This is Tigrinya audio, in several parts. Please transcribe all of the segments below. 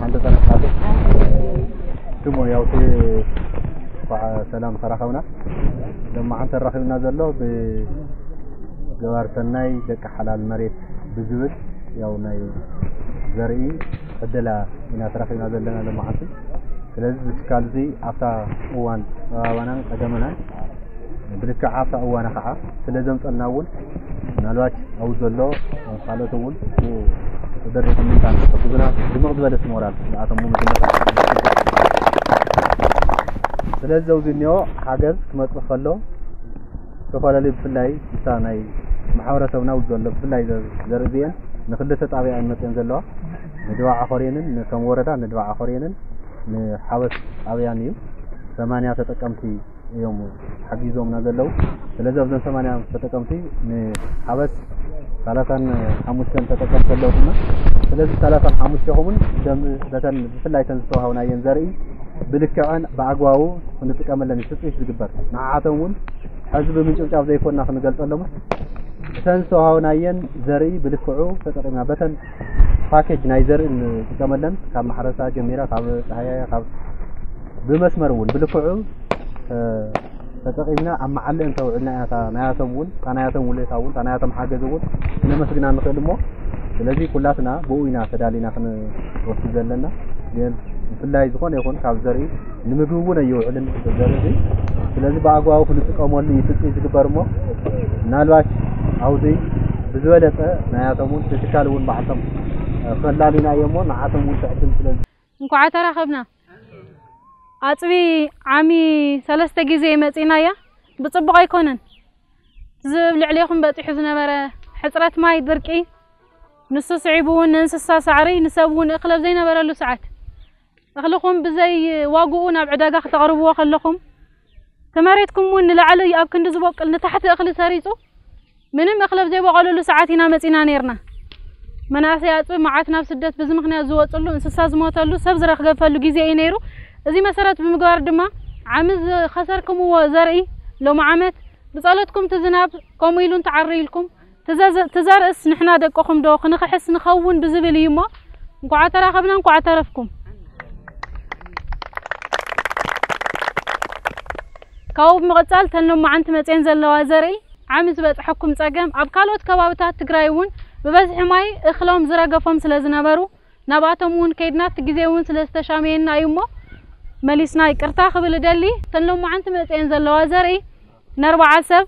ሓንቲ ጠረፍ ሓንቲ። ስሙ ያው እቲ እንኳዕ ሰላም ተራኸብና። ሎማዓንቲ ተራኺብና ዘሎ ብገባር ሰናይ ደቂ ሓላል መሬት ብዝብል ያው ናይ ዘርኢ ዕደላ ኢና ተራኺብና ዘለና ሎማዓንቲ። ስለዚ እዚ ትካል እዚ ኣብታ እዋን ጸባባናን ጸገመናን ብልክዕ ኣብታ እዋና ከዓ ስለ ዘምጸልና እውን ምናልባት ኣብኡ ዘሎ ካልኦት እውን ብደረጃ ምንታን ክሕግዙና ድምቕ ዝበለ ሞራል ንኣቶም እውን መጀመርታ። ስለዚ ዘውዚ እኒኦ ሓገዝ ክመጽእ ከሎ ዝተፈላለዩ ብፍላይ እታ ናይ ማሕበረሰብና እውን ዘሎ ብፍላይ ዘ- ዘርኢ እዚአን ንክልተ ጣብያ እየን መፅአን ዘለዋ። ንድባዓ ኮሬንን ከም ወረዳ ንድባዓ ኮሬንን ንሓወስ ጣብያን እዩ። ሰማንያ ተጠቀምቲ እዮም ሓጊዞምና ዘለዉ። ስለዚ ኣብዞም ሰማንያ ተጠቀምቲ ንሓወስ ሰላሳን ሓሙሽተን ተጠቀምቲ ኣለውና። ስለዚ ሰላሳን ሓሙሽተ ኹምን ደም በተን ብፍላይ ተን ዝተዋሃብናየን ዘርኢ ብልክዐን ብኣግባቡ ክንጥቀመለን እዩ ትፅቢት ዝግበር። ንዓዓቶም እውን ሕዚ ብምንጭብጫብ ዘይኮንና ክንገልፀሎምን እተን ዝተዋሃብናየን ዘርኢ ብልክዑ ተጠቂምና በተን ፓኬጅ ናይ ዘርኢ ንጥቀመለን ካብ ማሕረሳ ጀሚራ ካብ ፀሃያያ ካብ ብመስመር እውን ብልክዑ ተጠቂምና ኣብ መዓለ እንተውዕልና ኢና እታ ናያቶም እውን እታ ናያቶም ውለታ እውን እታ ናያቶም ሓገዝ እውን ክነመስግና ንኽእል እሞ ስለዚ ኩላትና ብኡ ኢና ተዳሊና ክንወስድ ዘለና። ግን ብፍላይ ዝኾነ ይኹን ካብ ዘርኢ ንምግቢ እውን ኣይውዕልን ዘርኢ እዚ። ስለዚ ብኣግባቡ ክንጥቀመሉ እዩ ትፅቢት ዝግበር እሞ ምናልባት ኣብዚ ብዝበለፀ ናያቶም እውን ትካል እውን ባዕልቶም ፈላሊና እዮ እሞ ንዓቶም እውን ትዕድም ስለ እንኳዕ ተራኸብና። ኣፅቢ ዓሚ ሰለስተ ግዜ መፂናያ ብፅቡቕ ኣይኮነን። ዝብ ልዕሌኹም በፂሑ ዝነበረ ሕፅረት ማይ፣ ድርቂ፣ ንሱ ስዒቡ እውን ንእንስሳ ሳዕሪ ንሰብ እውን እኽሊ ኣብ ዘይነበረሉ ሰዓት እኽልኹም ብዘይ ዋግኡ ናብ ዕዳጋ ክተቕርብዎ ከለኹም እቲ መሬትኩም እውን ንላዕሊ ኣብ ክንዲ ዝበቁል ንታሕቲ እኽሊ ሰሪፁ ምንም እኽሊ ኣብ ዘይበቐለሉ ሰዓት ኢና መፂና ነይርና። መናእሰይ ኣፅቢ መዓት ናብ ስደት ብዚ ምኽንያት ዝወፅሉ እንስሳ ዝሞተሉ ሰብ ዝረኽገፈሉ ግዜ እዩ ነይሩ። እዚ መሰረት ብምግባር ድማ ዓሚ ዝኸሰርክምዎ ዘርኢ ሎሚ ዓመት ብፀሎትኩም እቲ ዝናብ ከምኡ ኢሉ እንተዓርይልኩም ትዘርእስ ንሕና ደቅኹም ዶ ክንኽሕስ ንኸውን ብዝብል እዩ እሞ እንኳዓ ተራኸብና እንኳዓ ተረፍኩም። ካብኡ ብምቕፃል ተን ሎማዓንቲ መፅየን ዘለዋ ዘርኢ ዓሚ ዝበፅሐኩም ፀገም ኣብ ካልኦት ከባብታት ትግራይ እውን ብበዝሒ ማይ እኽሎም ዝረገፎም ስለ ዝነበሩ ናብኣቶም እውን ከይድና እቲ ግዜ እውን ስለ ዝተሻመየና እዩ እሞ መሊስና ይቅርታ ክብል እደሊ። ተን ሎማዓንቲ መፅየን ዘለዋ ዘርኢ ነርባዓ ሰብ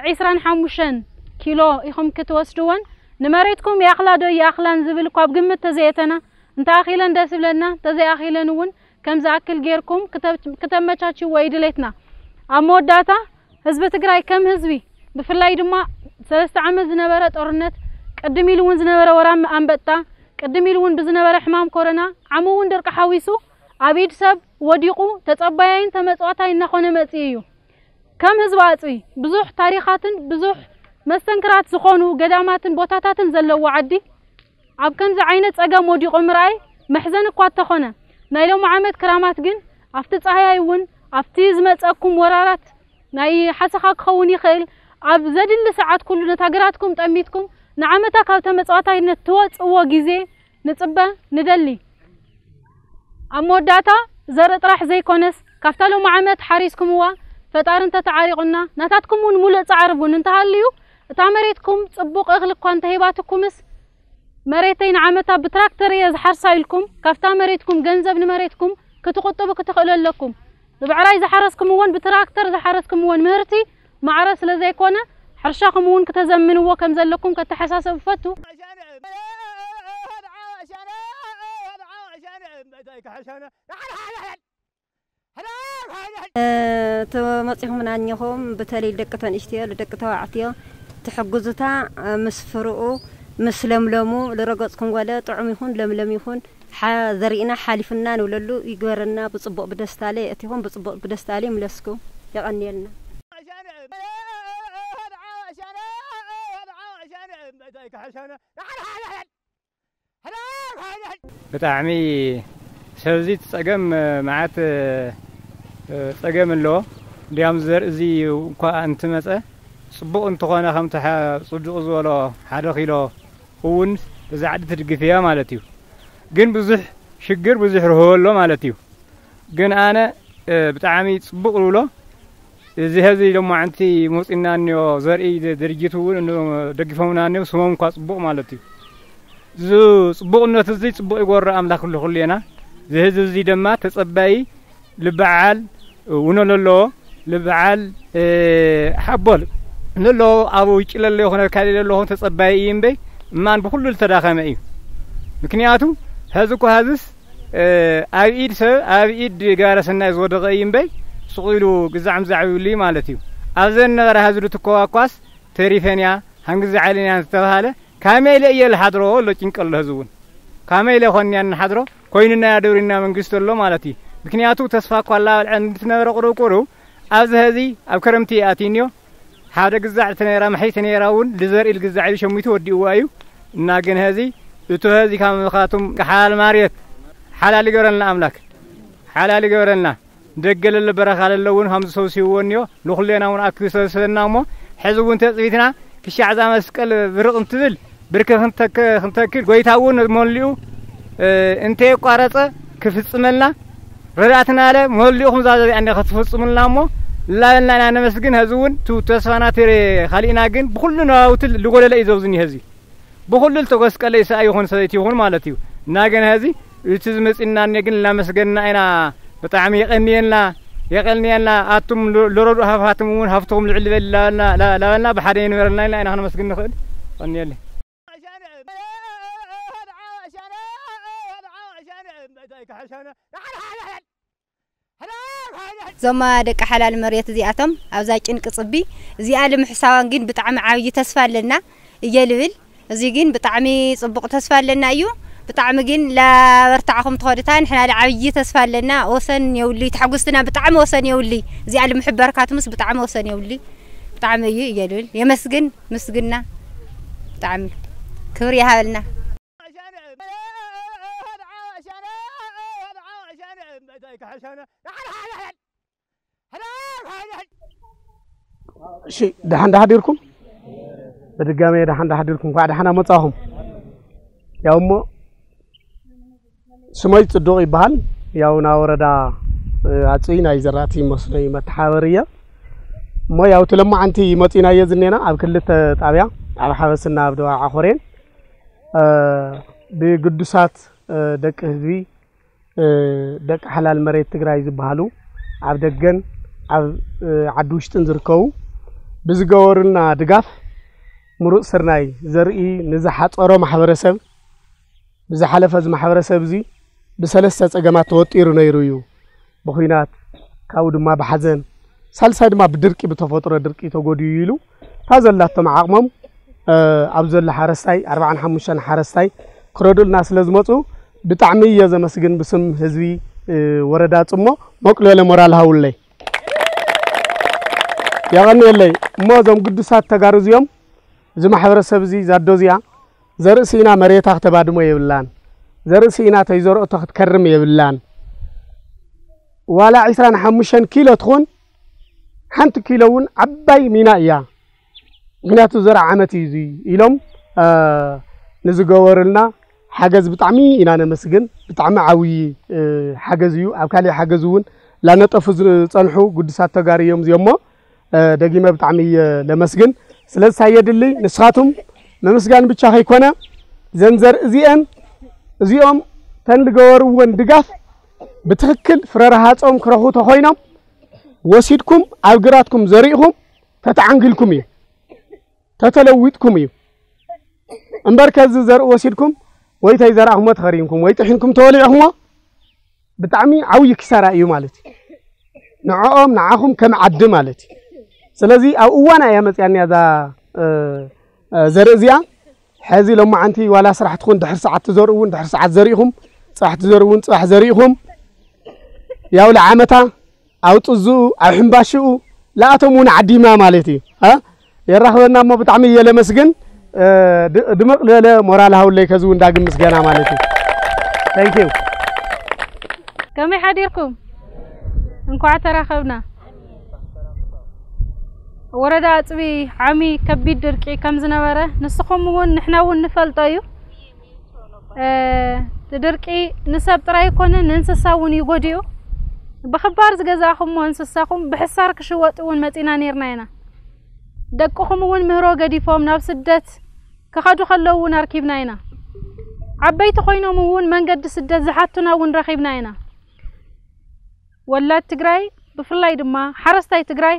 ዒስራን ሓሙሽተን ኪሎ ኢኹም ክትወስድወን ንመሬትኩም ይኣኽላ ዶ ይኣኽላን ዝብል እኳ ኣብ ግምት ተዘየእተና እንተኣኺለን ደስ ይብለና እንተዘይኣኺለን እውን ከም ዝኣክል ጌርኩም ክተመቻችዎ እዩ ድሌትና። ኣብ መወዳእታ ህዝቢ ትግራይ ከም ህዝቢ ብፍላይ ድማ ሰለስተ ዓመት ዝነበረ ጦርነት ቅድም ኢሉ እውን ዝነበረ ወራም ኣንበጣ ቅድም ኢሉ እውን ብዝነበረ ሕማም ኮሮና ዓሚ እውን ድርቂ ሓዊሱ ኣብ ኢድ ሰብ ወዲቑ ተፀባያይን ተመፅዋታይ እናኾነ መፂኡ እዩ። ከም ህዝቢ ኣፅቢ ብዙሕ ታሪኻትን ብዙሕ መስተንክራት ዝኾኑ ገዳማትን ቦታታትን ዘለዎ ዓዲ ኣብ ከምዚ ዓይነት ፀገም ወዲቑ ምርኣይ መሕዘኒ እኳ እንተኾነ ናይ ሎሚ ዓመት ክራማት ግን ኣብቲ ፃህያይ እውን ኣብቲ ዝመፀኩም ወራራት ናይ ሓሰኻ ክኸውን ይኽእል ኣብ ዘድሊ ሰዓት ኩሉ ነታ ግራትኩም ጠሚትኩም ንዓመታ ካብ ተመፅዋታይነት ትወፅዎ ግዜ ንፅበ ንደሊ። ኣብ መወዳእታ ዘርኢ ጥራሕ ዘይኮነስ ካብታ ሎሚ ዓመት ሓሪስኩምዋ ፈጣሪ እንተተዓሪቑና ናታትኩም እውን ሙሉእ ፃዕሪ እውን እንተሃልዩ እታ መሬትኩም ፅቡቕ እኽሊ እኳ እንተሂባትኩምስ መሬተይ ንዓመታ ብትራክተር እየ ዝሓርሳ ኢልኩም ካብታ መሬትኩም ገንዘብ ንመሬትኩም ክትቁጥቡ ክትኽእሉ ኣለኩም። ብብዕራይ ዝሓረስኩምዎን ብትራክተር ዝሓረስኩምዎን ምህርቲ ማዕረ ስለ ዘይኮነ ሕርሻኹም እውን ክተዘምንዎ ከም ዘለኩም ከተሓሳሰብ ፈቱ። ተመፂኹም ናኘኹም ብተለይ ደቂ ተንእሽትዮ ደቂ ተባዕትዮ ትሕግዙታ ምስ ፍርኡ ምስ ለምለሙ ልረገፅኩም ገለ ጥዑም ይኹን ለምለም ይኹን ዘርኢና ሓሊፍና ንብለሉ ይግበረና። ብፅቡቕ ብደስታለ የእቲኹም ብፅቡቕ ብደስታለ ይምለስኩም። የቐንየልና። ብጣዕሚ ሰብዚ እቲ ጸገም መዓት ጸገም ኣለዎ። እንዲያም ዘርኢ እዚ እኳ እንትመጸ ጽቡቕ እንተኾነ ከምቲ ጽዱቕ ዝበሎ ሓደ ኪሎ እውን እዛ ዓዲ ትድግፍ እያ ማለት እዩ። ግን ብዙሕ ሽግር ብዙሕ ርህወ ኣሎ ማለት እዩ። ግን ኣነ ብጣዕሚ ጽቡቕ ዝብሎ እዚ ሀዚ ሎማዕንቲ መውፂና እኒኦ ዘርኢ ድርጅት እውን ደግፎምና እኒኦ ስሞም እኳ ፅቡቕ ማለት እዩ። እዚ ፅቡቕነቱ እዚ ፅቡቕ ይጎረ ኣምላክ ኩሉ ኩሌና እዚ ህዝቢ እዚ ድማ ተፀባይ ልበዓል ውኖ ለለዎ ልበዓል ሓቦል ለለዎ ኣብ ውጭ ለለ ይኹነ ካሊ ለለኹም ተፀባይ እዩ እምበይ እማን ብኩሉ ዝተዳኸመ እዩ። ምክንያቱ ሀዚ እኳ ሀዝስ ኣብ ኢድ ሰብ ኣብ ኢድ ጋረ ሰናይ ዝወደቐ እዩ እምበይ ስቕ ኢሉ ግዛዕ ምዛዕ ይብሉ እዩ ማለት እዩ። ኣብዘን ነበረ ሀዚ ልትኮዋኳስ ተሪፈን እያ ሃንግዚ ዓልን እያ ዝተባሃለ ካመይ ኢለ እየ ልሓድሮ ኣሎ ጭንቀ ኣሎ ህዚ እውን ካመይ ኢለ ኮንያ ንሓድሮ ኮይንና ያደብሪና መንግስቲ ኣሎ ማለት እዩ። ምክንያቱ ተስፋ እኳ ላበልዐ እንትነበረ ቁሩብ ቁሩብ ኣብዚ ሀዚ ኣብ ክረምቲ ኣትዩኒዮ ሓደ ግዛዕ ተነራ መሐይ ተነራ እውን ልዘርኢ ልግዛዕ ኢሉ ሸሚቱ ወዲእዋ እዩ። እና ግን ሀዚ እቱ ሀዚ ካብ ምኻቱም ሓላል ማርየት ሓላል ይገረልና ኣምላክ ሓላል ይገረልና። ደገ ለለ በረኻ ለለ እውን ከም ዝሰብስብዎ እኒዮ ንኹሌና እውን ኣክቢ ሰብስበና እሞ ሕዚ እውን ተፅቢትና ክሻዕ እዛ መስቀል ብርቕ እንትብል ብርክ ክንተክል ጎይታ እውን መሊኡ እንተየቋረፀ ክፍፅመልና ረዳእትና ለ መሊኡ ከምዛ ዘቢኣኒ ክትፍፅሙልና እሞ ላበልና ኢና ነመስግን። ሀዚ እውን ቱ ተስፋና ትሬ ካሊእና ግን ብኩሉ ነዋውትል ልጎደለ እዩ ዘብዝኒ ሀዚ ብኩሉ ልተጎስቀለ ይሰኣ ይኹን ሰበይቲ ይኹን ማለት እዩ። እና ግን ሀዚ እቲ ዝመፅና እኔ ግን እናመስገንና ኢና። ብጣዕሚ የቐንየልና የቐንየልና ኣቱም ለረዱ ሃፋትም እውን ሃፍትኹም ልዕል በል ላበልና ብሓደ የንበረልና ኢልና ኢና ክነመስግን ንኽእል። ቀንየለይ። ዞማ ደቂ ሓላል መሬት እዚኣቶም ኣብዛ ጭንቂ ፅቢ እዚኣ ልምሕሳዋን ግን ብጣዕሚ ዓብዪ ተስፋ ኣለና እየ ልብል። እዚ ግን ብጣዕሚ ፅቡቕ ተስፋ ኣለና እዩ። ብጣዕሚ ግን ላበርታዕኹም ትኸዱታ ንሕና ዓብዪ ተስፋ ኣለና። ወሰን የውሊ ተሓጉስትና ብጣዕሚ ወሰን የውሊ። እዚኣ ልምሕበርካትምስ ብጣዕሚ ወሰን የውሊ። ብጣዕሚ እዩ እየ ልብል። የመስግን ምስግና ብጣዕሚ ክብሪ ይሃበልና። እሺ ደሓን ዳሓዲርኩም ብድጋሜ ደሓን ዳሓዲርኩም እንኳዕ ደሓና መጻኹም። ያው እሞ ስመይ ጽዱቕ ይበሃል። ያው ና ወረዳ ኣጽይ ናይ ዘራእቲ መስኖይ መተሓበሪ እየ። እሞ ያው ትለማዓንቲ መጺናዮ ዝኔና ኣብ ክልተ ጣብያ ኣብ ሓበስና ኣብ ደዋ ዓኾሬን ብግዱሳት ደቂ ህዝቢ ደቂ ሓላል መሬት ትግራይ ዝበሃሉ ኣብ ደገን ኣብ ዓዲ ውሽጥን ዝርከቡ ብዝገበሩልና ድጋፍ ምሩፅ ስርናይ ዘርኢ ንዝሓፀሮ ማሕበረሰብ ብዝሓለፈ እዚ ማሕበረሰብ እዚ ብሰለስተ ፀገማት ተወጢሩ ነይሩ እዩ። ብኹናት ካብኡ ድማ ብሓዘን ሳልሳይ ድማ ብድርቂ ብተፈጥሮ ድርቂ ተጎድዩ ኢሉ እታ ዘላቶም ዓቕሞም ኣብ ዘሎ ሓረስታይ ኣርባዓን ሓሙሽተን ሓረስታይ ክረድኡልና ስለ ዝመፁ ብጣዕሚ እየ ዘመስግን ብስም ህዝቢ ወረዳ ፅሞ ሞቅ ዝበለ ሞራል ሃውለይ የቐንየለይ እሞ እዞም ግዱሳት ተጋሩ እዚኦም እዚ ማሕበረሰብ እዚ ዛዶ እዚኣ ዘርኢ ስኢና መሬታ ክተባድሞ የብላን ዘርኢ ስኢና ተይዘርኦቶ ክትከርም የብላን ዋላ ዒስራን ሓሙሽተን ኪሎ ትኹን ሓንቲ ኪሎ እውን ዓባይ ሚና እያ። ምክንያቱ ዘርዓ ዓመት እዩ እዚ ኢሎም ንዝገበሩልና ሓገዝ ብጣዕሚ ኢና ነመስግን። ብጣዕሚ ዓብዪ ሓገዝ እዩ። ኣብ ካሊእ ሓገዝ እውን ላነጠፉ ዝፀንሑ ግዱሳት ተጋሩ እዮም እዚኦሞ ደጊመ ብጣዕሚ እየ ለመስግን። ስለዚ ሳይ የድሊ ንስኻቱም ምምስጋን ብቻ ከይኮነ ዘንዘር እዚአን እዚኦም ተን ዝገበርወን ድጋፍ ብትኽክል ፍረ ረሃጾም ክረኹ ተኾይኖም ወሲድኩም ኣብ ግራትኩም ዘሪእኹም ተተዓንግልኩም እዩ፣ ተተለዊጥኩም እዩ። እምበር ከዚ ዘርኢ ወሲድኩም ወይ ተይዘራእኹሞ ተኸሪንኩም ወይ ጥሒንኩም ተወሊዕኹሞ ብጣዕሚ ዓብዪ ኪሳራ እዩ ማለት እዩ። ንዕኦም ንዓኹም ከም ዓዲ ማለት እዩ። ስለዚ ኣብ እዋና እያ መፅያኒ እዛ ዘርኢ እዚኣ። ሕዚ ሎማዓንቲ ዋላ ስራሕ ትኹን ድሕር ሰዓት ትዘርኡ እውን ድሕር ሰዓት ዘሪእኹም፣ ፅባሕ ትዘርኡ እውን ፅባሕ ዘሪእኹም፣ ያው ለዓመታ ኣብ ጥዝኡ ኣብ ሕምባሽኡ ለኣቶም እውን ዓዲማ ማለት እዩ። የራኽበና እሞ ብጣዕሚ እየ ለመስግን። ድምቕ ዝበለ ሞራል ሃውለይ ከዚ እውን ዳግም ምስገና ማለት እዩ። Thank you። ከመይ ሓዲርኩም? እንኳዕ ተራኸብና። ወረዳ ኣፅቢ ዓሚ ከቢድ ድርቂ ከም ዝነበረ ንስኹም እውን ንሕና እውን ንፈልጦ እዩ። እቲ ድርቂ ንሰብ ጥራይ ኣይኮነን፣ ንእንስሳ እውን እዩ ጎዲኡ። ብኽባር ዝገዛእኹምዎ እንስሳኹም ብሕሳር ክሽወጥ እውን መፂና ነይርና ኢና። ደቅኹም እውን ምህሮ ገዲፎም ናብ ስደት ክኸዱ ከለዉ እውን ኣርኪብና ኢና። ዓበይቲ ኮይኖም እውን መንገዲ ስደት ዝሓቱና እውን ረኺብና ኢና። ወላድ ትግራይ ብፍላይ ድማ ሓረስታይ ትግራይ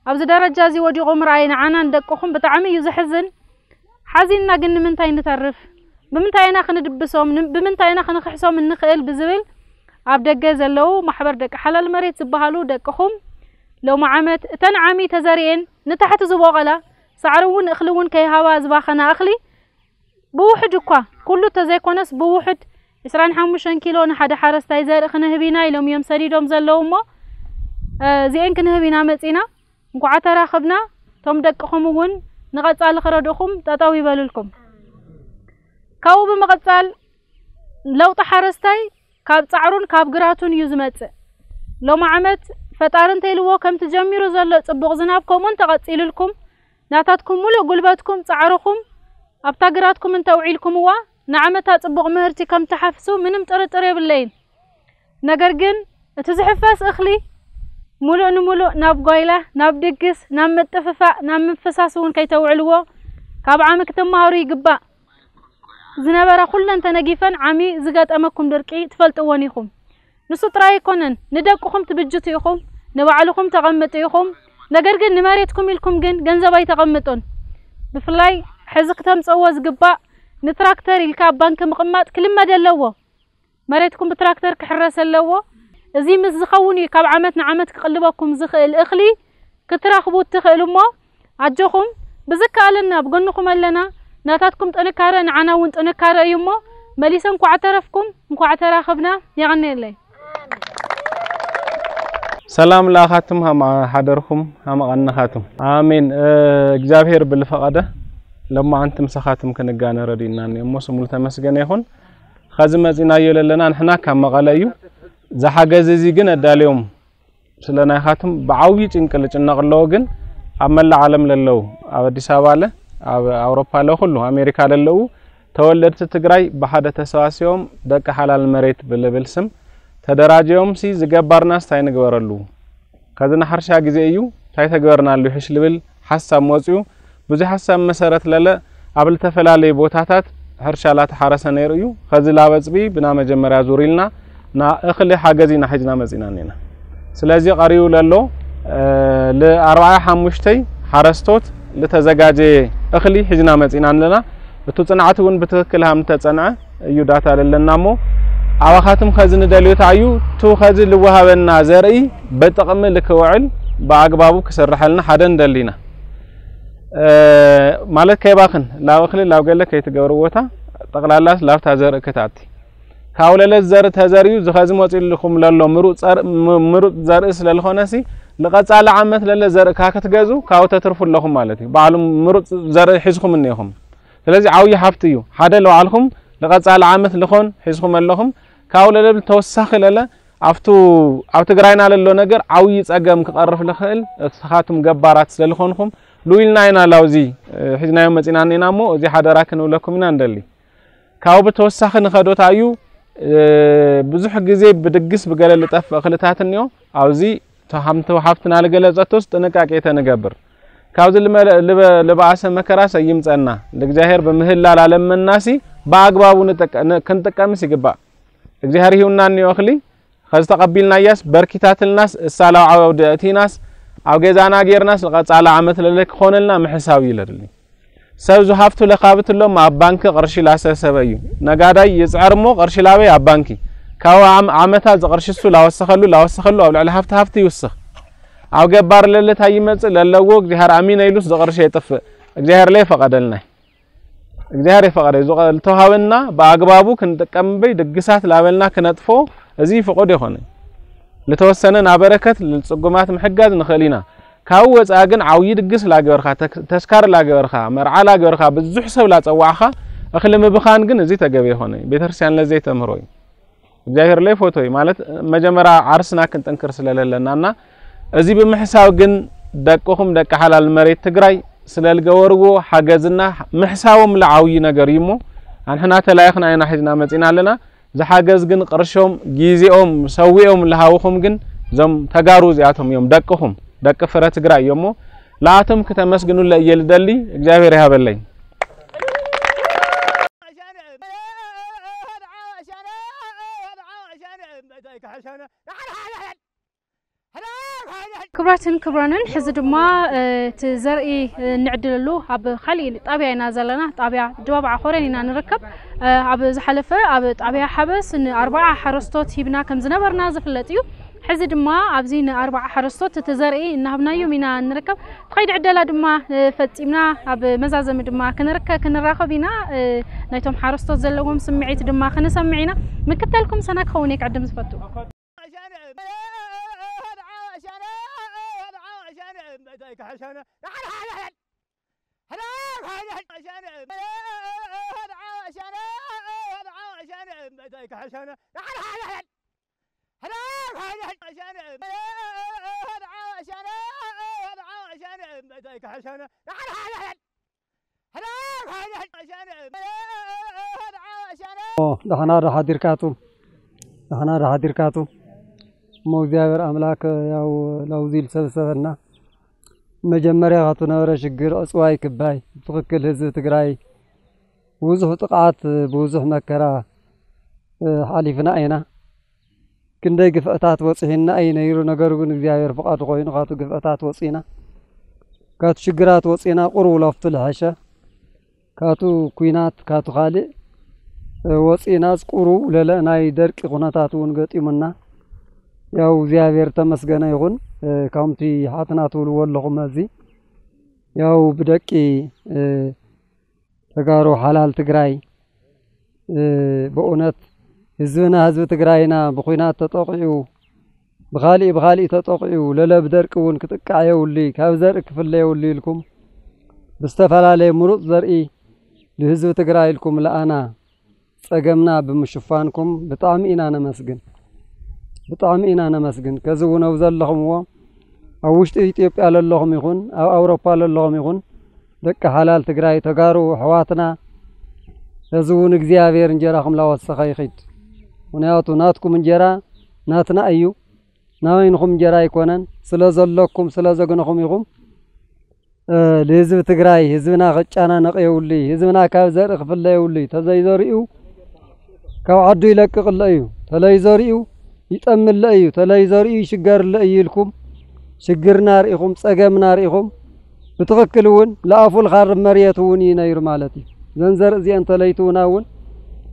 ኣብዚ ደረጃ እዚ ወዲቑ ምርኣይ ንዓናን ደቅኹም ብጣዕሚ እዩ ዘሕዝን። ሓዚንና ግን ንምንታይ ንተርፍ? ብምንታይ ኢና ክንድብሶም? ን- ብምንታይ ኢና ክንኽሕሶም እንኽእል? ብዝብል ኣብ ደገ ዘለዉ ማሕበር ደቂ ሓላል መሬት ዝበሃሉ ደቅኹም ሎሚ ዓመት እተን ዓሚ ተዘሪኤን ንታሕቲ ዝበቖላ ሳዕሪ እውን እኽሊ እውን ከይሃባ ዝባኸና እኽሊ ብውሕድ እኳ ኩሉ ተዘይኮነስ ብውሕድ ዕስራን ሓሙሽተን ኪሎ ንሓደ ሓረስታይ ዘርኢ ክንህብ ኢና ኢሎም እዮም ሰዲዶም ዘለዉ እሞ እዚኤን ክንህብ ኢና መፂና። እንኳዓ ተራኽብና። እቶም ደቅኹም እውን ንቐፃሊ ክረድእኹም ጠጠው ይበልልኩም። ካብኡ ብምቕፃል ለውጢ ሓረስታይ ካብ ፃዕሩን ካብ ግራቱን እዩ ዝመፅእ። ሎሚ ዓመት ፈጣሪ እንተኢልዎ ከምቲ ጀሚሩ ዘሎ ፅቡቕ ዝናብ ከምኡ እንተቐፂልልኩም ናታትኩም ሙሉእ ጉልበትኩም ፃዕርኹም ኣብታ ግራትኩም እንተውዒልኩምዋ ንዓመታ ፅቡቕ ምህርቲ ከም ትሓፍሱ ምንም ጥርጥር የብለይን። ነገር ግን እቲ ዝሕፈስ እኽሊ ሙሉእ ንሙሉእ ናብ ጓይላ፣ ናብ ድግስ፣ ናብ ምጥፍፋእ፣ ናብ ምፍሳስ እውን ከይተውዕልዎ ካብ ዓሚ ክትመሃሩ ይግባእ። ዝነበራ ኩለን ተነጊፈን ዓሚ ዝገጠመኩም ድርቂ ትፈልጥወን ኢኹም። ንሱ ጥራይ ኣይኮነን፣ ንደቅኹም ትብጅቱ ኢኹም፣ ንባዕልኹም ተቐምጡ ኢኹም። ነገር ግን ንመሬትኩም ኢልኩም ግን ገንዘብ ኣይተቐምጡን። ብፍላይ ሕዚ ክተምፅእዎ ዝግባእ ንትራክተር ኢልካ ኣብ ባንኪ ምቕማጥ ክልመድ ኣለዎ። መሬትኩም ብትራክተር ክሕረስ ኣለዎ። እዚ ምስ ዝኸውን እዩ ካብ ዓመት ንዓመት ክቕልበኩም ዝኽእል እኽሊ ክትረኽቡ እትኽእሉ እሞ ኣጆኹም ብዝከኣለና ኣብ ጎንኹም ኣለና። ናታትኩም ጥንካረ ንዓና እውን ጥንካረ እዩ እሞ መሊሰ እንኳዕ ተረፍኩም እንኳዕ ተራኸብና። የቐንየለይ። ሰላም ለኣኻትም ሃመ ሓደርኩም ሃመ ቐንኻትም ኣሜን። እግዚኣብሔር ብልፈቐደ ለማዓንቲ ምሳኻትም ክንጋነ ረድእና እሞ ስሙሉ ተመስገነ ይኹን። ኸዚ መጺናዮ ለለና ንሕና ካብ መቐለ እዩ። ዝሓገዝ እዚ ግን ኣዳልዮም ስለ ናይኻትም ብዓብዪ ጭንቂ ልጭነቕ ኣለዎ። ግን ኣብ መላእ ዓለም ለለዉ ኣብ ኣዲስ ኣበባ ኣለ ኣብ ኣውሮፓ ኣለ ኩሉ ኣሜሪካ ለለዉ ተወለድቲ ትግራይ ብሓደ ተሰባሲቦም ደቂ ሓላል መሬት ብልብል ስም ተደራጅዮም ሲ ዝገባርናስ ታይ ንግበረሉ? ከዚ ንሓርሻ ግዜ እዩ ታይ ተግበርናሉ ይሕሽ ልብል ሓሳብ መፅዩ ብዙ ሓሳብ መሰረት ለለ ኣብ ልተፈላለዩ ቦታታት ሕርሻ ላተሓረሰ ነይሩ እዩ። ኸዚ ላበፅቢ ብና መጀመርያ ዙር ኢልና ና እኽሊ ሓገዝ ኢና ሒዝና መፂና እኒና። ስለዚ ቀሪቡ ለሎ ልኣርባዓ ሓሙሽተይ ሓረስቶት ልተዘጋጀየ እኽሊ ሒዝና መፂና ኣለና። እቱ ፅንዓት እውን ብትኽክል ሃም ተፀንዐ እዩ ዳታ ለለና እሞ ኣባኻትም ኸዚ ንደልዮ ታዩ ቱ ኸዚ ልወሃበና ዘርኢ በጥቕሚ ልክውዕል ብኣግባቡ ክስርሐልና ሓደ ንደሊና። ማለት ከይባኽን ላብ እኽሊ ላብ ገለ ከይትገብርዎታ ጠቕላላስ ላብታ ዘርኢ ክታቲ ካብ ለለት ዘርኢ ተዘርዩ ዝኸዚ መፂልኩም ለሎ ምሩፅ ዘርኢ ስለልኾነሲ ልቐፃሊ ዓመት ለለ ዘርኢ ካ ክትገዙ ካብ ተትርፉ ኣለኹም ማለት እዩ። ባዕሉ ምሩፅ ዘርኢ ሒዝኩም እኒኹም። ስለዚ ዓብዪ ሃፍቲ እዩ። ሓደ ለባዕልኹም ንቐፃሊ ዓመት ልኾን ሒዝኩም ኣለኹም። ካብኡ ለለብል ተወሳኺ ለለ ኣብቱ ኣብ ትግራይና ለሎ ነገር ዓብዪ ፀገም ክቐርፍ ልኽእል እስኻቱም ገባራት ስለልኾንኹም ሉኢልና ኢና ላውዚ ሒዝናዮም መፂና እኒና እሞ እዚ ሓደራ ክንብለኩም ኢና እንደሊ። ካብኡ ብተወሳኺ ንኸዶታ እዩ ብዙሕ ግዜ ብድግስ ብገለ ልጠፍእ እኽልታት እኒኦ ኣብዚ ተሃምተው ሃፍትና ልገለጸቶስ ጥንቃቄ ተንገብር። ካብዚ ልበኣሰ መከራስ ኣይምጸና። ለእግዚኣብሔር ብምህላል ኣለመናሲ ብኣግባቡ ንጥቀ- ን- ክንጥቀምስ ይግባእ። እግዚኣብሔር ሂቡና እኒኦ እኽሊ፣ ከዚ ተቐቢልናያስ በርኪታትልናስ እሳ ላብ ዓውዲ ኣእቲናስ ኣብ ገዛና ጌርናስ ንቐጻሊ ዓመት ለለ ክኾነልና ምሕሳብ እዩ ለድሊ። ሰብ ዝሃፍቱ ለካብት እሎም ኣብ ባንኪ ቅርሺ ላሰሰበ እዩ። ነጋዳይ ይጽዕር እሞ ቅርሺ ላበይ ኣብ ባንኪ። ካብ ዓም- ዓመታት ዝቕርሺ እሱ ላወሰኸሉ ላወሰኸሉ ኣብ ልዕሊ ሃፍቲ ሃፍቲ ይውስኽ። ኣብ ገባር ለለ ታይ ይመጽእ ለለዎ እግዚኣብሔር ኣሚነ ኢሉስ ዝቕርሺ የጥፍእ። እግዚኣብሔር ለይፈቐደልና። እግዚኣብሔር የፈቐደ ዝቐ- ዝተውሃበና ብኣግባቡ ክንጥቀም እምበይ ድግሳት ላበልና ክነጥፎ እዚ ፍቑድ ይኾነ። ልተወሰነ ናበረከት ልጽጉማት ምሕጋዝ ንኽእል ኢና። ካብኡ ወጻኢ ግን ዓብዪ ድግስ ላገበርካ፣ ተክ- ተስካር ላገበርካ፣ መርዓ ላገበርካ፣ ብዙሕ ሰብ ላጸዋዕኻ እኽሊ ምብኻን ግን እዚ ተገቢ ይኾነ። ቤተክርስትያን ለዘይተምህሮ እዩ። እግዚኣብሔር ለይፈቶ እዩ ማለት መጀመርያ ዓርስና ክንጥንክር ስለለለና እና እዚ ብምሕሳብ ግን ደቅኹም ደቂ ሓላል መሬት ትግራይ ስለልገበርዎ ሓገዝና ምሕሳቦም ለዓብዪ ነገር እዩ እሞ ኣንሕና ተላይኽና ኢና ሒዝና መጺና ኣለና። ዝሓገዝ ግን ቅርሾም ጊዜኦም ሰዊኦም ለሃውኹም ግን እዞም ተጋሩ እዚኣቶም እዮም ደቅኹም ደቂ ፍረ ትግራይ እዮም እሞ ለኣቶም ክተመስግኑለ እየ ልደሊ። እግዚኣብሔር ይሃበለይ። ክቡራትን ክቡራንን ሕዚ ድማ እቲ ዘርኢ እንዕድለሉ ኣብ ካሊእ ጣብያ ኢና ዘለና። ጣብያ ድባብ ዓኾረን ኢና ንርከብ። ኣብ ዝሓለፈ ኣብ ጣብያ ሓበስ ንኣርባዓ ሓረስቶት ሂብና ከም ዝነበርና ዝፍለጥ እዩ። ሕዚ ድማ ኣብዚ ንኣርባዓ ሓረስቶት እቲ ዘርኢ እናሃብናዮም ኢና ንርከብ። ትኸይድ ዕደላ ድማ ፈፂምና ኣብ መዛዘሚ ድማ ክንርከ ክንራኸብ ኢና። ናይቶም ሓረስቶት ዘለዎም ስምዒት ድማ ክንሰምዕ ኢና። ምክተልኩም ሰና ክኸውን እየ ክዕድም ዝፈቱ። ደሕና ዶ ሓዲርካቱ? ደሕና ዶ ሓዲርካቱ? እሞ እግዚኣብሔር ኣምላክ ያው ላውዚ ልሰብሰበና መጀመርያ ካቱ ነበረ ሽግር ዕፅዋይ ክባይ ብትኽክል ህዝቢ ትግራይ ብዙሕ ጥቕዓት ብዙሕ መከራ ሓሊፍና ኢና። ክንደይ ግፍዕታት በፂሑና እዩ ነይሩ። ነገሩ ግን እግዚኣብሔር ፍቓዱ ኮይኑ ካቱ ግፍዕታት ወፂና። ካቱ ሽግራት ወፂና ቁሩብ ለፍቱ ልሐሸ። ካቱ ኩናት ካቱ ካልእ ወፂናስ ቁሩብ ለለ ናይ ደርቂ ኩነታት እውን ገጢሙና። ያው እግዚኣብሔር ተመስገነ ይኹን። ከምቲ ሓትና ትብልዎ ኣለኹም ኣብዚ ያው ብደቂ ተጋሩ ሓላል ትግራይ ብእውነት ህዝብና ህዝቢ ትግራይና ብኩናት ተጠቂዑ ብካሊእ ብካሊእ ተጠቂዑ ለለ ብደርቂ እውን ክጥቃዕ የውሉይ ካብ ዘርኢ ክፍለ የውሉይ ኢልኩም ብዝተፈላለየ ምሩፅ ዘርኢ ንህዝቢ ትግራይ ኢልኩም ለኣና ፀገምና ብምሽፋንኩም ብጣዕሚ ኢና ነመስግን ብጣዕሚ ኢና ነመስግን። ከዚ እውን ኣብ ዘለኹምዎ ኣብ ውሽጢ ኢትዮጵያ ለለኹም ይኹን ኣብ ኣውሮፓ ለለኹም ይኹን ደቂ ሓላል ትግራይ ተጋሩ ኣሕዋትና ሕዚ እውን እግዚኣብሔር እንጀራኹም ላወሰኸ ይኺድ። ምኽንያቱ ናትኩም እንጀራ ናትና እዩ፣ ናበይንኹም እንጀራ ኣይኮነን። ስለ ዘለኩም ስለ ዘግነኹም ኢኹም ንህዝቢ ትግራይ ህዝብና ክጨናነቕ የብሉይ፣ ህዝብና ካብ ዘርኢ ክፍለ የብሉይ። ተዘይዘሪኡ ካብ ዓዱ ይለቅቕ ኣሎ እዩ፣ ተለይዘሪኡ ይጠሚ ኣሎ እዩ፣ ተለይዘሪኡ ይሽገር ኣሎ እዩ ኢልኩም ሽግርና ርኢኹም ፀገምና ርኢኹም ብትኽክል እውን ለኣፉ ልኻርብ መርየት እውን እዩ ነይሩ ማለት እዩ። ዘን ዘርኢ እዚአን ተለይትውና እውን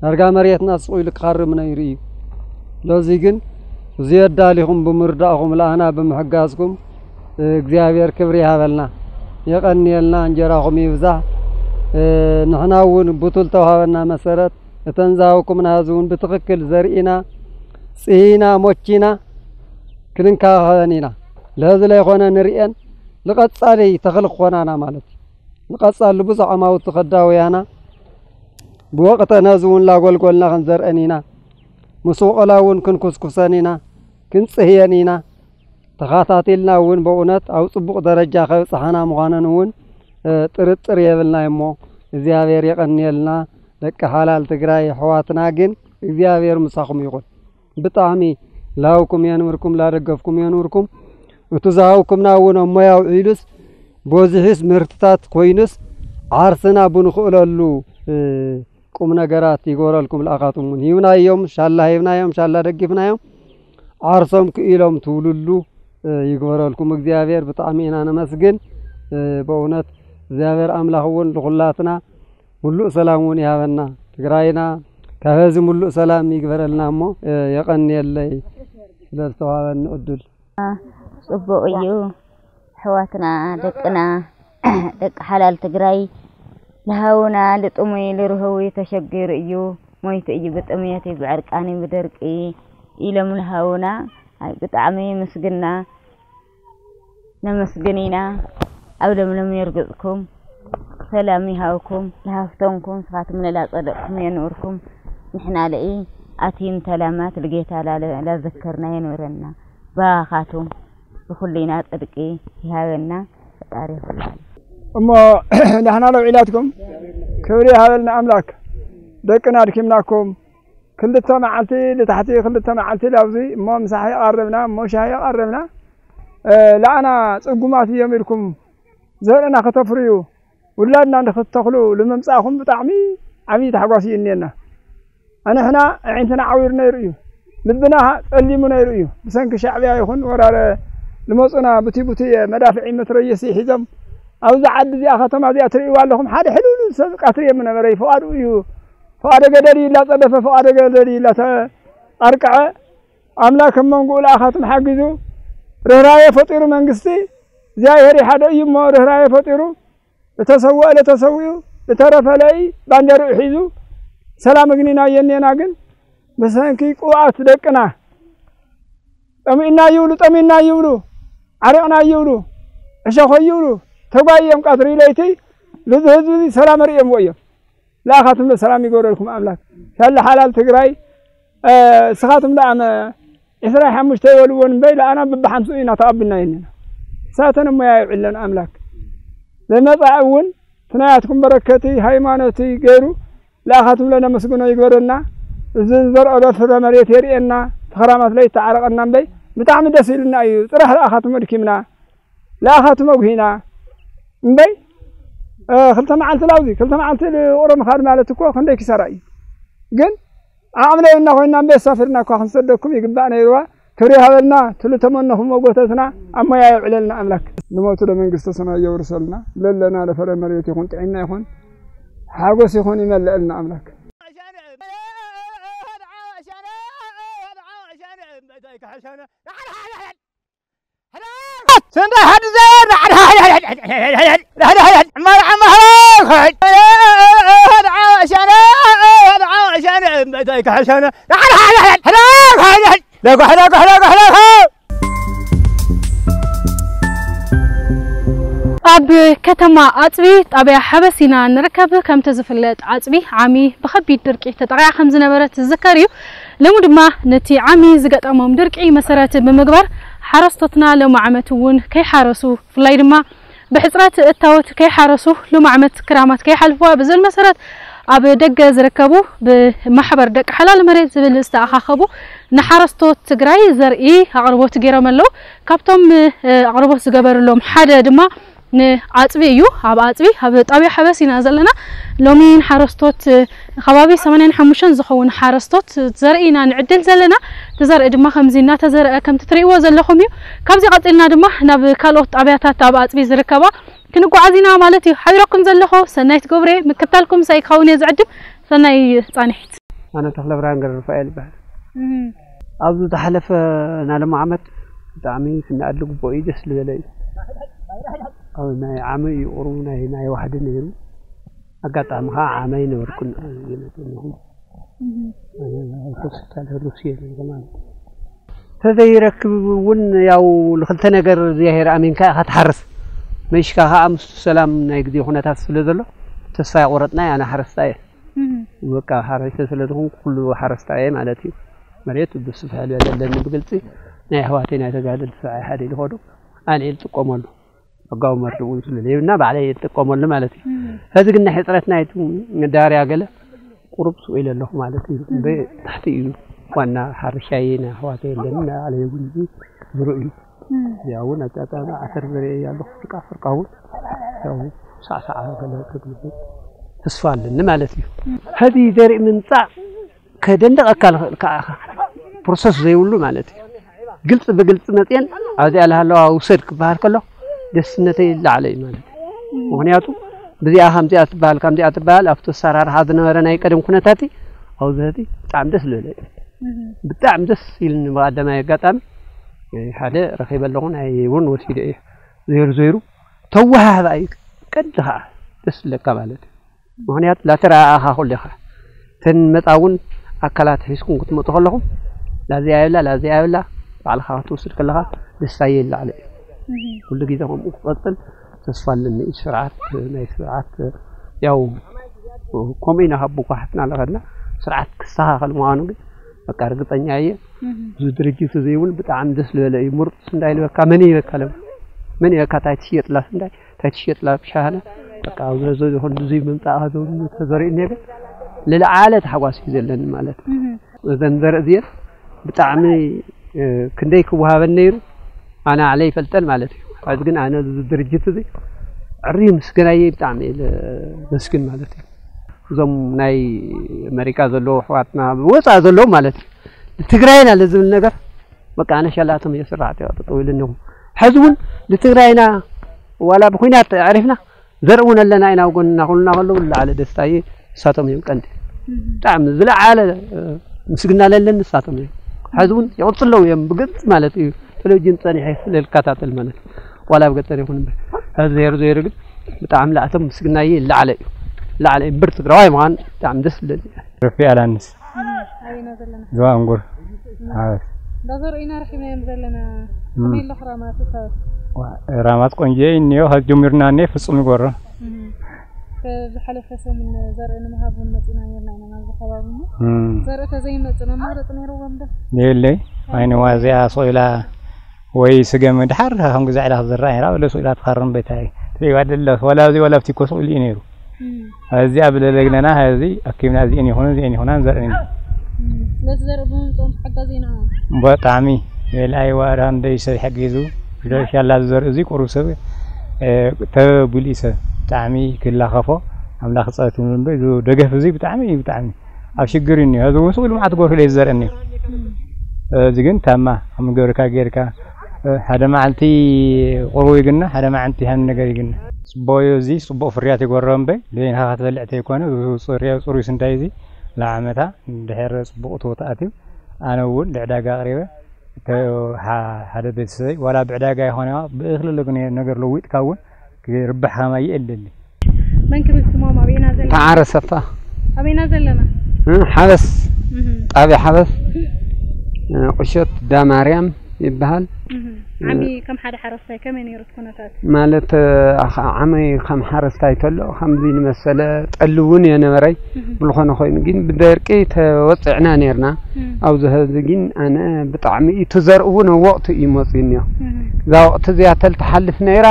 ዳርጋ መርየትና ስቑ ኢሉ ክኻርብ ነይሩ እዩ። ስለዚ ግን እዚ ኣዳሊኹም ብምርዳእኹም ለኣና ብምሕጋዝኩም እግዚኣብሔር ክብሪ ይሃበልና። የቐንየልና፣ እንጀራኹም ይብዛሕ። ንሕና እውን ብቱል ተውሃበና መሰረት እተን ዝሃብኩምና ህዚ እውን ብትኽክል ዘርኢና ፅሂና ሞቺና ክንንከባኸበን ኢና። ለህዚ ለይኾነ ንርእየን ንቐጻሊ ተኽሊ ክኾናና ማለት እዩ። ንቐጻሊ ብዙሕ ኣማውቲ ከዳውያና ብወቕተን ህዚ እውን ላጎልጎልና ክንዘርአን ኢና። ምስ ወቐላ እውን ክንኩስኩሰን ኢና፣ ክንጽህየን ኢና። ተኻታቲልና እውን በእውነት ኣብ ጽቡቕ ደረጃ ከብጽሓና ምዃነን እውን ጥርጥር የብልናይ እሞ እግዚኣብሔር የቐንየልና። ደቂ ሓላል ትግራይ ኣሕዋትና ግን እግዚኣብሔር ምሳኹም ይኹን። ብጣዕሚ ላውኩም የንብርኩም ላደገፍኩም የንብርኩም። እቱ ዝሃውኩምና እውን እሞ ያውዒሉስ በዚሑስ ምህርትታት ኮይኑስ ዓርስና ብንኽእለሉ ቁም ነገራት ይግበረልኩም። ለኣኻትም እውን ሂብናዮም፣ ሻላ ሂብናዮም፣ ሻላ ደጊፍናዮም፣ ዓርሶም ክኢሎም ትውልሉ ይግበረልኩም እግዚኣብሔር። ብጣዕሚ ኢና ነመስግን። በእውነት እግዚኣብሔር ኣምላኽ እውን ንኹላትና ሙሉእ ሰላም እውን ይሃበና። ትግራይና ካብ ሕዚ ሙሉእ ሰላም ይግበረልና እሞ የቐንየለይ ስለ ዝተዋሃበኒ ዕድል። ጽቡቕ እዩ። ኣሕዋትና ደቅና ደቂ ሓላል ትግራይ ልሃውና ልጥሙይ ልርህዊ ተሸጊሩ እዩ ሞይቱ እዩ ብጥምየት እዩ ብዕርቃን እዩ ብደርቂ ኢሎም ልሃውና ብጣዕሚ ምስግና ነመስግን ኢና። ኣብ ለምለም የርግፅኩም ሰላም ይሃብኩም ልሃፍተንኩም ስኻትም ለላፀደቅኩም የንብርኩም ንሕና ለኢ ኣቲም ተላማት ልጌታ ላዘክርና የንብረና ባኻቱም ብኹሉ ኢና ፅድቂ ይሃበና ፈጣሪ ይኹላል። እሞ ዳሕና ለውዒላትኩም ክብሪ ይሃበልና ኣምላክ። ደቅና ኣድኪምናኩም ክልተ መዓልቲ ልታሕቲ ክልተ መዓልቲ ላብዚ እሞ ምሳሕ የቃረብና እሞ ሻሂ የቃረብና። ለኣና ፅጉማት እዮም ኢልኩም ዘርእና ከተፍርዩ ውላድና ንክትተኽሉ ልምምፃእኹም ብጣዕሚ ዓብዪ ታሕጓስ እዩ እኒአና። ኣንሕና ኣዒንትና ዓዊሩ ነይሩ እዩ። ልብና ጸሊሙ ነይሩ እዩ። ብሰንኪ ሻዕብያ ይኹን ወራረ ልመጹና ቡቲ ቡቲ መዳፍዒ መትረየሲ ሒዞም ኣብዚ ዓዲ እዚኣ ከተማ እዚኣ ትርእይዋ ኣለኹም ሓደ ሕልል ሰብ ቀትሪ የምነበረ እዩ። ፍቓዱ እዩ ፍቓደ ገደል እዩ ላጸደፈ ፍቓደ ገደል እዩ ላተኣርቅዐ ኣምላክ ኣብ መንጎኡ ለኣኻትም ሓጊዙ ርህራየ ፈጢሩ መንግስቲ እግዚኣብሔር ይሓደ እዩ እሞ ርህራየ ፈጢሩ እተሰወአ ለተሰዊኡ እተረፈ ለኢ ባንዴርኡ ሒዙ ሰላም እግኒና የኔና ግን ብሰንኪ ቅብኣት ደቅና ጠሚእና ይብሉ ጠሚእና ይብሉ ዓሪቕና ይብሉ ዕሸኾ ይብሉ ተጓይዮም ቀትሪ ለይቲ ልዚ ህዝቢ እዚ ሰላም ርእዮምዎ እዮም። ለኣኻትም ሰላም ይገብረልኩም ኣምላክ። ሻለ ሓላል ትግራይ ስኻትም ደኣ ዕስራ ሓሙሽተ ይበልዎን እምበይ ለኣና በብሓምስኡ ኢና ተቐብልና የኒና። ሳተን እሞያ ይውዕለን ኣምላክ። ለመጻእ እውን ትናያትኩም በረከቲ ሃይማኖቲ ገይሩ ለኣኻትም ለነመስግኖ ይግበረና። እዚ ዘርኦ ለፍረ መሬት የርእየና። ተኸራማት ለይተዓረቐና እምበይ ብጣዕሚ ደስ ኢልና እዩ። ጥራሕ ለኣኻትም ኣድኪምና። ለኣኻትም ኣጉሂና እምበይ ክልተ መዓልቲ ላውዚ ክልተ መዓልቲ ቁረ ምኻድ ማለት እኮ ክንደይ ኪሳራ እዩ። ግን ዓቕሚ ለየና ኮይና እምበይ ኣሳፊርና እኳ ክንሰደኩም ይግባእ ነይርዋ። ክብሪ ይሃበልና ትሉ ተመነኹም መጎተትና ኣብ ሞያ የውዕለልና ኣምላክ። ንሞቱ ለመንግስተ ሰማይ የውርሰልና። ለለና ለፈረ መሬት ይኹን ጥዒና ይኹን ሓጎስ ይኹን ይመልአልና ኣምላክ። ኣብ ከተማ ኣፅቢ ጣብያ ሓበሲና ንርከብ። ከምቲ ዝፍለጥ ኣፅቢ ዓሚ ብኸቢድ ድርቂ ተጠቒዓ ከም ዝነበረት ዝዝከር እዩ። ሎሚ ድማ ነቲ ዓሚ ዝገጠሞም ድርቂ መሰረት ብምግባር ሓረስቶትና ሎሚ ዓመት እውን ከይሓረሱ ብፍላይ ድማ ብሕፅረት እታወት ከይሓረሱ ሎም ዓመት ክራማት ከይሓልፍዋ ብዝብል መሰረት ኣብ ደገ ዝርከቡ ብማሕበር ደቂ ሓላል መሬት ዝብል ዝተኣኻኸቡ ንሓረስቶት ትግራይ ዘርኢ ኣቕርቦት ገይሮም ኣለዉ። ካብቶም ኣቕርቦት ዝገበርሎም ሓደ ድማ ንኣፅቢ እዩ። ኣብ ኣፅቢ ኣብ ጣብያ ሓበስ ኢና ዘለና። ሎሚ ንሓረስቶት ከባቢ ሰማንያን ሓሙሽተን ዝኸውን ሓረስቶት ዘርኢ ኢና ንዕድል ዘለና። እቲ ዘርኢ ድማ ከምዚ እናተዘርአ ከምቲ ትርእይዎ ዘለኹም እዩ። ካብዚ ቀፂልና ድማ ናብ ካልኦት ጣብያታት ኣብ ኣፅቢ ዝርከባ ክንጓዓዝ ኢና ማለት እዩ። ሓቢረኩም ዘለኹ ሰናይት ገብሬ ምክታልኩም ምሳይ ክኸውን እየ ዝዕድም። ሰናይ ፃንሒት። ኣነ ተኽለብርሃን ገረሩፋኤል ይበሃል። ኣብዚ ዝሓለፈ ናይ ሎሚ ዓመት ብጣዕሚ ክነኣድ ልግብኦ እዩ ደስ ዝበለ እዩ። ኣብ ናይ ዓሚ እዩ ቁሩብ ናይ ናይ ዋሕዲ ነይሩ። ኣጋጣሚ ከዓ ዓሚ ኣይነበርኩን እየ መፅእ ኣለኹ። ሆስፒታል ሩስየ ነይረ ማለት እዩ። ተዘይረክብ እውን ያው ንክልተ ነገር እግዚኣብሔር ኣሚንካ ኢኻ ትሓርስ። መሽካ ከዓ ምስቱ ሰላም ናይ ግዜ ኩነታት ስለ ዘሎ ተስፋ ኣይቆረጥና ኣነ ሓረስታ እየ። በቃ ሓረስተ ስለ ዝኾንኩ ኩሉ ሓረስታ እየ ማለት እዩ። መሬት ብስፍሕ ዝበለ ኣለኒ ብግልፂ ናይ ኣሕዋተይ ናይ ተጋደልቲ ሰብኣይ ሓደ ኢሉ ኸዶ ኣነ እየ ዝጥቀመሉ። ሕጋዊ መርድእ እውን ስለ ዘይብልና ባዕለይ እየ ዝጥቀመሉ ማለት እዩ። ሕዚ ግን ናይ ሕፅረት ናይቲ መዳበርያ ገለ ቁሩብ ስቕ ኢለ ኣለኹ ማለት እዩ። እምበይ ታሕቲ እዩ ዋና ሓረሻይ ናይ ኣሕዋተይ የለን ናይ ባዕለይ እውን እዚ ዝርኡ እዩ። እዚኣ እውን ኣጋጣሚ ዓተር ዘርእየ እየ ኣለኹ ፍርቃ ፍርቃ እውን ያው ሳዕሳዓ ገለ ከግልብጥ ተስፋ ኣለኒ ማለት እዩ። ሕዚ ዘርኢ ምምፃእ ከደንደቐካ ዝኽእል ከዓ ፕሮሰስ ዘይብሉ ማለት እዩ። ግልፂ ብግልፂ መፅየን ኣብዚኣ ዝሃለዋ ውሰድ ክበሃል ከሎ ደስነተይ ይለዓለ እዩ ማለት እዩ። ምክንያቱ ብዚኣ ከምዚኣ ትበሃል ከምዚኣ ትበሃል ኣብቲ ኣሰራርሓ ዝነበረ ናይ ቀደም ኩነታት ኣብዚ ሕዚ ብጣዕሚ ደስ ዝበለ እዩ። ብጣዕሚ ደስ ኢልኒ። ብቐዳማይ ኣጋጣሚ ሓደ ረኺበ ኣለኹ ናይ እውን ወሲደ እየ። ዘይሩ ዘይሩ ተወሃህባ እዩ ቀዲ ከዓ ደስ ዝብለካ ማለት እዩ። ምክንያቱ ላተረኣኣኻ ኩሉ ኢኻ እተን መፃ እውን ኣካላት ሒዝኩም ክትመፁ ከለኹም ላዚኣ የብላ ላዚኣ የብላ ባዕልኻ ክትወስድ ከለኻ ደስታየ ይላዕለ እዩ። ኩሉ ግዜ ከምኡ ክቐፅል ተስፋ ኣለኒ። ስርዓት ናይ ስርዓት ያው ከምኡ ኢና ካብ ብኳሕትና ለኸድና ስርዓት ክስተኻኸል ምዃኑ ግን በቃ ርግፀኛ እየ። እዚ ድርጅት እዚ እውን ብጣዕሚ ደስ ዝበለ እዩ። ምሩፅ ስንዳይ ልበካ መን ይበካ ለም መን ይበካ እንታይ ትሽየጥላ ስንዳይ እንታይ ትሽየጥላ ብሻሃነ በቃ ኣብዚ ዞ ይኹን ብዙይ ምምፃእ ከዘውኒ ተዘሪኡ ነገ ልለዓለ ተሓጓስ እዩ ዘለኒ ማለት እዩ። እዘን ዘርኢ እዚአን ብጣዕሚ ክንደይ ክወሃበን ነይሩ ኣነ ኣዕለ ይፈልጠን ማለት እዩ። ሕዚ ግን ኣነ እዚ ድርጅት እዚ ዕሪ ምስገናየ ብጣዕሚ እየ ዘመስግን ማለት እዩ። እዞም ናይ ኣሜሪካ ዘለዉ ኣሕዋትና ወፃኢ ዘለዉ ማለት እዩ ንትግራይና ለዝብል ነገር በቃ ኣነ ሸላቶም እየ ስራሕቲ ጠጠው ኢሉ እኒኹ። ሕዚ እውን ንትግራይና ዋላ ብኩናት ኣዕሪፍና ዘርኢ እውን ኣለና ኢና ኣብ ጎንና ኩልና ከለዉ ዝለዓለ ደስታ እዩ። ንሳቶም እዮም ቀንዲ ብጣዕሚ ዝለዓለ ምስግና ለለን ንሳቶም እዮም። ሕዚ እውን ይቕፅለው እዮም ብግልፂ ማለት እዩ። ቴሌቪዥን ፀኒሐ ስለልከታተል ማለት ዋላ ኣብ ገጠር ይኹን እምበር ሕዚ ዘይሩ ዘይሩ ግን ብጣዕሚ ላእቶም ምስግናየ ይለዓለ እዩ። ላዕለ እምበር ትግራዋይ ምዃን ብጣዕሚ ደስ ዝብለኒ። ረፊ ኣላንስ ኣበይና ዘለና ዞባ እንጉር ሓበስ እንዳ ዘርእና ረኺብናዮም ዘለና ከመይ ኣሎ ክራማት እሳት ራማት ቆንጆ እኒኦ ካብ ጀሚርና እኒኦ ፍጹም ይጎሮ ብዝሓለፈ ሰሙን ዘርኢ ንምሃብ እውን መፂና ነርና ኢና ናብዚ ከባቢ እሞ ዘርኢ ተዘይመፅእ መማረፂ ነይርዎም ዶ የለይ ኣይንዋ እዚኣ ሶኢላ ወይ ስገም ድሓር ከም ግዛዕ ኢላ ክዝራእ ነራ ወለ ሶኢላ ትኸርም ቤታይ ትሪዋ ደለ ወላ እዚ ወላ ብቲኮ ሶኢሉ እዩ ነይሩ እዚኣ ብለለግነና እዚ ኣኪብና እዚአን ይኹኑ እዚአን ይኹና ንዘርእን ኢና ስለዚ ዘርኢ ብምምፅኦም ተሓጋዚ ኢና ብጣዕሚ የልኣይ ዋራ እንደይ ሰብ ይሕጊዙ ሻላ ዝዘርኢ እዚ ቁሩብ ሰብ ተቢሉ እዩ ሰብ ብጣዕሚ ክላኸፎ ኣምላኽ ፀወት ምንበ እዚ ደገፍ እዚ ብጣዕሚ እዩ ብጣዕሚ ኣብ ሽግር እዩ እኒኦ እዚ እውን ስኡ ልምዓት ጎርሁ ለይ ዝዘርኢ እኒኦ እዚ ግን ታማ ከም ገርካ ጌርካ ሓደ መዓልቲ ቁሩብ ይግና ሓደ መዓልቲ ሃኒ ነገር ይግና ፅቡቅ እዩ እዚ ፅቡቅ ፍርያት ይጎረበ እምበይ ደይንካ ክትበልዕ ተይኮነ ፅሩይ ስንዳይ እዚ ለዓመታ ድሕር ፅቡቅ ትቦ ተኣትዩ ኣነ እውን ንዕዳጋ ኣቅሪበ ሓደ ቤተሰበይ ዋላ ብዕዳጋ ይኮነ ብእክሊ ነገር ለዊጥካ እውን ክርባሕ ከማይ የእልል መን ክብል ስሞም ኣበይና ዘለና ተዓረ ሰፋ ኣበይና ዘለና ሓበስ ጣብያ ሓበስ ቁሸት ዳማርያም ይበሃል ዓሚ ከም ሓደ ሓረስታይ ከመይ ነይሩ እቲ ኩነታት ማለት ዓመይ ከም ሓረስታይ ተሎ ከምዚ ንመሰለ ጠሊ እውን የነበረይ ብልኾነ ኮይኑ ግን ብደርቂ ተወፅዕና ነርና ኣብዚ ህዚ ግን ኣነ ብጣዕሚ እዩ ትዘርእ እውን ወቅቱ እዩ መፅኡ እኒኦ እዛ ወቅቲ እዚኣ ተልትሓልፍ ነይራ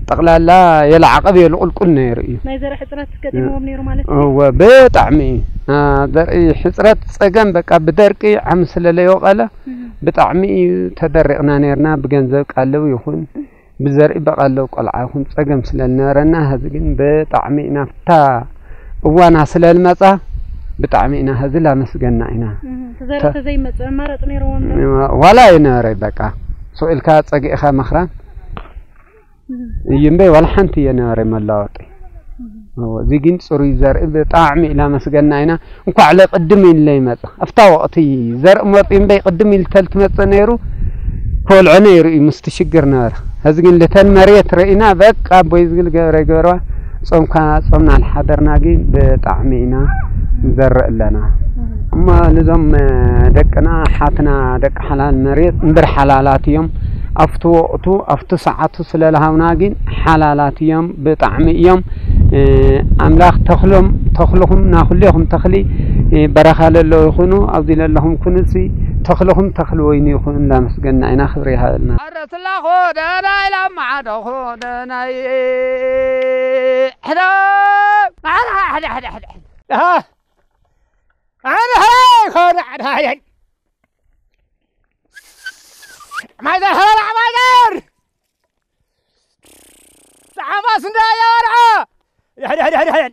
ጠቕላላ የለዓቐብ የልቁልቁል ነይሩ እዩ ናይ ዘርእ ሕፅረት ገጢምዎም ነይሩ ማለት እዩ እወ ብጣዕሚ እዩ ዘርኢ ሕፅረት ፀገም በቃ ብደርቂ ዓሚ ስለለይወቀለ ብጣዕሚ እዩ ተደሪቕና ነርና ብገንዘብ ቃልብ ይኹን ብዘርኢ በቐሎ ቆልዓ ይኹን ፀገም ስለልነበረና ሀዚ ግን ብጣዕሚ ኢና ፍታ እዋና ስለልመፃ ብጣዕሚ ኢና ሀዚ ላመስገና ኢና። ተዘርእ ተዘይመፅእ መማረፂ ነይርዎም ዶ? ዋላ ኣይነበረ በቃ ሱቕ ኢልካ ፀጊእኻ ምኽራም እዩ እምበይ ዋላ ሓንቲ እየነበረ መላወጢ። እዚ ግን ፅሩይ ዘርኢ ብጣዕሚ ኢላመስገና ኢና። እንኳዕ ለቅድም ኢሉ ለይመፀ ኣብታ ወቅቲ ዘርኢ መፂኡ እምበይ ቅድም ኢሉ ተልትመፀ ነይሩ ከወልዖ ነይሩ እዩ ምስቲ ሽግር ነበረ ሕዚ ግን ልተን መሬት ረኢና በቃ ኣቦይ ዝግል ገብረ ገብረዋ ፆምካ ፆምና ልሓደርና ግን ብጣዕሚ ኢና ንዘርእ ኣለና እሞ ንዞም ደቅና ሓትና ደቂ ሓላል መሬት እምበር ሓላላት እዮም ኣብቲ ወቅቱ ኣብቲ ሰዓቱ ስለልሃውና ግን ሓላላት እዮም ብጣዕሚ እዮም ኣምላኽ ተኽሎም ተኽልኹም ናኹሌኹም ተኽሊ በረኻ ለለዉ ይኹኑ ኣብዚ ለለኹም ኩኑሲ ተኽልኹም ተኽሊ ወይኒ ይኹኑ እንዳመስገንና ኢና ክብሪ ይሃበልና ኣረትላኹ ደናይ ላማዓደኹ ደናይ ሕደ ሕደ ሕደ ሕደ ሕደ ሕደ ሕደ ሕደ ሕደ ሕደ ማይዘር ሀበላ ማይዘር ጣዕማስ እንዳያወርዖ ሕድሕድሕድሕድ